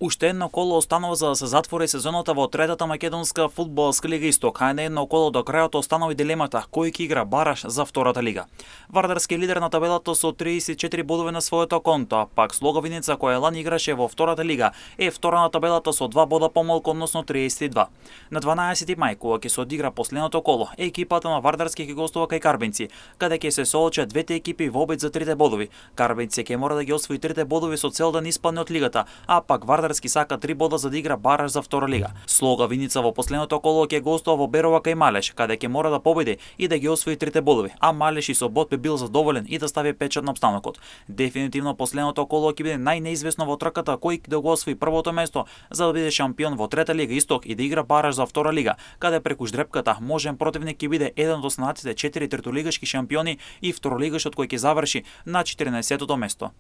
Уште едно коло останува за да се затвори сезоната во третата македонска фудбалска лига Исток, а на едно коло до крајот останува и дилемата кој ќе игра бараж за втората лига. Вардарски е лидер на табелата со 34 бодови на своето конто, а пак Слога Виница, која лани играше во втората лига, е втора на табелата со 2 бода помалку, односно 32. На 12 мај, кога ќе се одигра последното коло, екипата на Вардарски ќе гостува кај Карбинци, каде ќе се соочат двете екипи во обид за 3 бодови. Карбинци ќе мора да ги освои 3 бодови со цел да не испадне од лигата, а пак Вардарски сака 3 бода за да игра бараж за втора лига. Слога Виница во последното коло ќе гостува во Берова кај Малеш, каде ќе мора да победи и да ги освои 3 бодови, а Малеш и со бод би бил задоволен и да стави печат на обстанокот. Дефинитивно последното коло ќе биде најнеизвестно во трката кој да го освои првото место за да биде шампион во трета лига Исток и да игра бараж за втора лига, каде преку ждрепката можен противник ќе биде еден од останатите 4 третолигашки шампиони и второлигашот кој ќе заврши на 14-тото место.